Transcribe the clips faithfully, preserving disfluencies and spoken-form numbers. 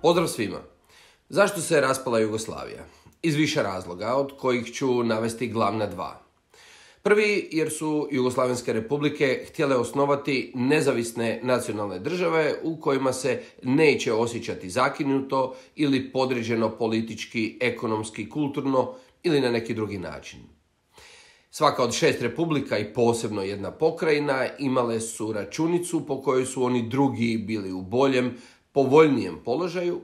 Pozdrav svima! Zašto se raspala Jugoslavija? Iz više razloga, od kojih ću navesti glavna dva. Prvi, jer su jugoslavenske republike htjele osnovati nezavisne nacionalne države u kojima se neće osjećati zakinuto ili podređeno politički, ekonomski, kulturno ili na neki drugi način. Svaka od šest republika i posebno jedna pokrajina imale su računicu po kojoj su oni drugi bili u boljem, povoljnijem položaju,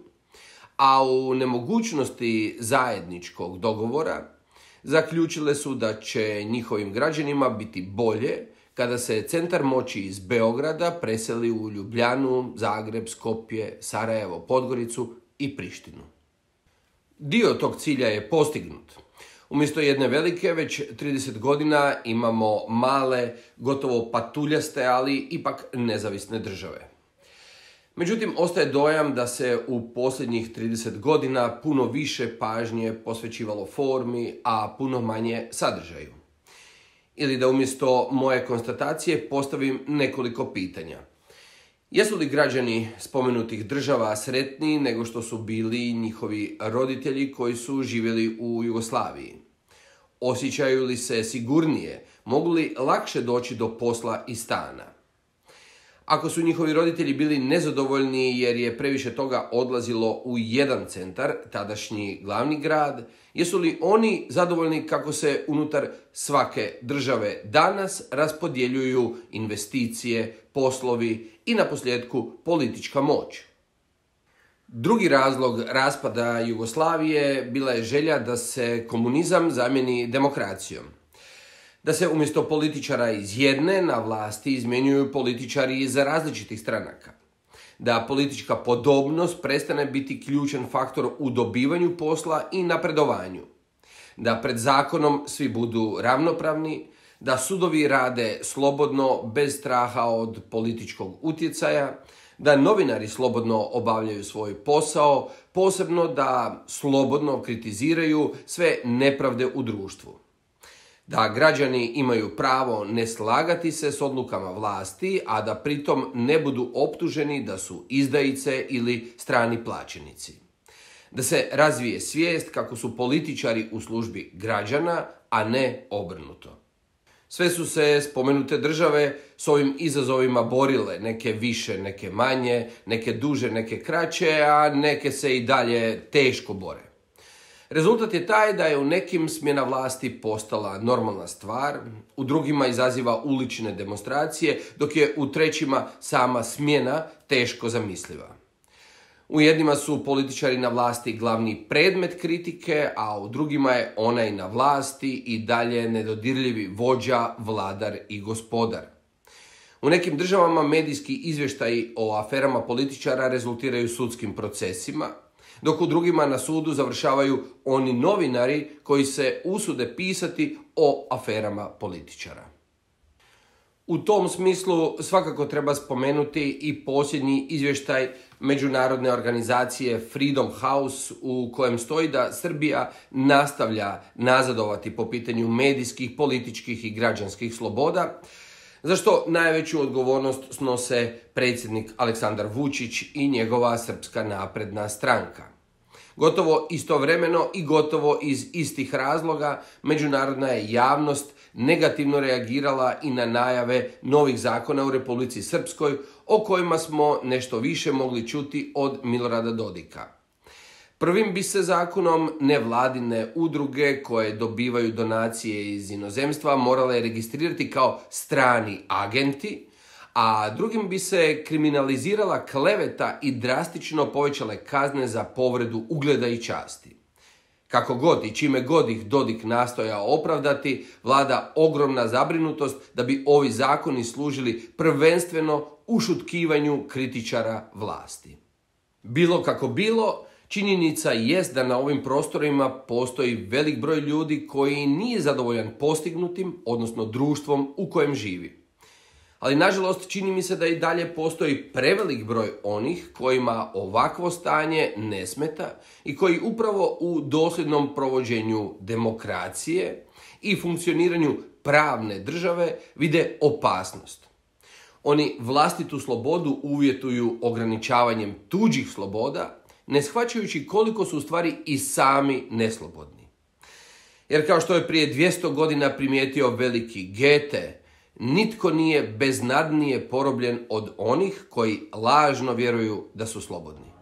a u nemogućnosti zajedničkog dogovora zaključile su da će njihovim građanima biti bolje kada se centar moći iz Beograda preseli u Ljubljanu, Zagreb, Skopje, Sarajevo, Podgoricu i Prištinu. Dio tog cilja je postignut. Umjesto jedne velike, već trideset godina imamo male, gotovo patuljaste, ali ipak nezavisne države. Međutim, ostaje dojam da se u posljednjih trideset godina puno više pažnje posvećivalo formi, a puno manje sadržaju. Ili da umjesto moje konstatacije postavim nekoliko pitanja. Jesu li građani spomenutih država sretniji nego što su bili njihovi roditelji koji su živjeli u Jugoslaviji? Osjećaju li se sigurnije? Mogu li lakše doći do posla i stana? Ako su njihovi roditelji bili nezadovoljni jer je previše toga odlazilo u jedan centar, tadašnji glavni grad, jesu li oni zadovoljni kako se unutar svake države danas raspodjeljuju investicije, poslovi i naposljetku politička moć? Drugi razlog raspada Jugoslavije bila je želja da se komunizam zamijeni demokracijom. Da se umjesto političara iz jedne na vlasti izmjenjuju političari iz različitih stranaka. Da politička podobnost prestane biti ključan faktor u dobivanju posla i napredovanju. Da pred zakonom svi budu ravnopravni, da sudovi rade slobodno bez straha od političkog utjecaja, da novinari slobodno obavljaju svoj posao, posebno da slobodno kritiziraju sve nepravde u društvu. Da građani imaju pravo ne slagati se s odlukama vlasti, a da pritom ne budu optuženi da su izdajice ili strani plaćenici. Da se razvije svijest kako su političari u službi građana, a ne obrnuto. Sve su se spomenute države s ovim izazovima borile, neke više, neke manje, neke duže, neke kraće, a neke se i dalje teško bore. Rezultat je taj da je u nekim smjena vlasti postala normalna stvar, u drugima izaziva ulične demonstracije, dok je u trećima sama smjena teško zamisliva. U jednima su političari na vlasti glavni predmet kritike, a u drugima je onaj na vlasti i dalje nedodirljivi vođa, vladar i gospodar. U nekim državama medijski izvještaji o aferama političara rezultiraju sudskim procesima, dok u drugima na sudu završavaju oni novinari koji se usude pisati o aferama političara. U tom smislu svakako treba spomenuti i posljednji izvještaj međunarodne organizacije Freedom House u kojem stoji da Srbija nastavlja nazadovati po pitanju medijskih, političkih i građanskih sloboda, za što najveću odgovornost snose predsjednik Aleksandar Vučić i njegova Srpska napredna stranka. Gotovo istovremeno i gotovo iz istih razloga međunarodna je javnost negativno reagirala i na najave novih zakona u Republici Srpskoj o kojima smo nešto više mogli čuti od Milorada Dodika. Prvim bi se zakonom nevladine udruge koje dobivaju donacije iz inozemstva morale registrirati kao strani agenti, a drugim bi se kriminalizirala kleveta i drastično povećale kazne za povredu ugleda i časti. Kako god i čime god ih Dodik nastojao opravdati, vlada ogromna zabrinutost da bi ovi zakoni služili prvenstveno ušutkivanju kritičara vlasti. Bilo kako bilo, činjenica jest da na ovim prostorima postoji velik broj ljudi koji nije zadovoljan postignutim, odnosno društvom u kojem živi. Ali nažalost čini mi se da i dalje postoji prevelik broj onih kojima ovakvo stanje ne smeta i koji upravo u dosljednom provođenju demokracije i funkcioniranju pravne države vide opasnost. Oni vlastitu slobodu uvjetuju ograničavanjem tuđih sloboda ne shvaćajući koliko su u stvari i sami neslobodni. Jer kao što je prije dvjesto godina primijetio veliki Goethe, nitko nije beznadnije porobljen od onih koji lažno vjeruju da su slobodni.